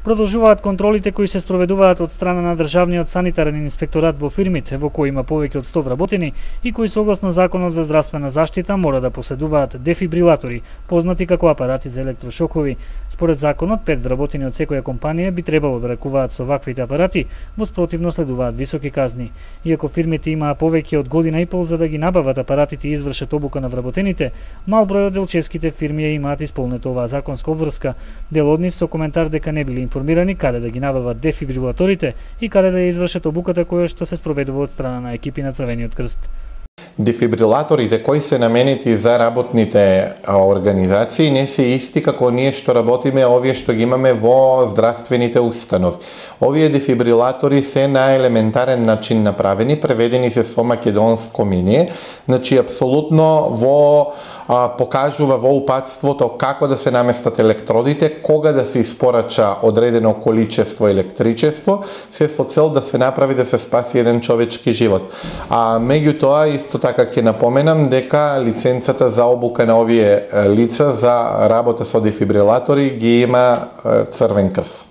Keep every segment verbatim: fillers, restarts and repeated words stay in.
Продолжуваат контролите кои се спроведуваат од страна на државниот санитарен инспекторат во фирмите во кои има повеќе од сто вработени и кои согласно Законот за здравствена заштита мора да поседуваат дефибрилатори, познати како апарати за електрошокови. Според законот, пет вработени од секоја компанија би требало да ракуваат со ваквите апарати, во спротивно следуваат високи казни. Иако фирмите имаа повеќе од година и пол за да ги набават апаратите и извршат обука на вработените, мал број од делчевските фирми ја имаат исполнето оваа законска обврска. Дел од нив со коментар дека не били информирани каде да ги набават дефибрилаторите и каде да ја извршат обуката која што се спроведува од страна на екипи на Црвениот крст. Дефибрилаторите кои се наменети за работните организации не се исти како ние што работиме овие што ги имаме во здравствените установи. Овие дефибрилатори се на елементарен начин направени, преведени се со македонско миние, значи апсолутно во а, покажува во упатството како да се наместат електродите, кога да се испорача одредено количество електричество, се со цел да се направи да се спаси еден човечки живот. А меѓутоа исто така ќе напоменам дека лиценцата за обука на овие лица за работа со дефибрилатори ги има Црвен крст.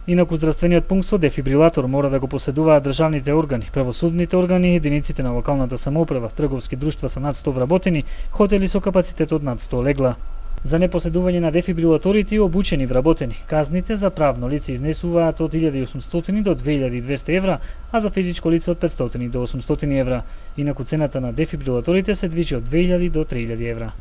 Инаку здравствениот пункт со дефибрилатор мора да го поседуваат државните органи, правосудните органи, единиците на локалната самоуправа, трговски друштва со над сто вработени, хотели со капацитет од над сто легла. За непоседување на дефибрилаторите и обучени вработени, казните за правно лице изнесуваат од илјада и осумстотини до две илјади и двесте евра, а за физичко лице од петстотини до осумстотини евра. Инаку цената на дефибрилаторите се движи од две илјади до три илјади евра.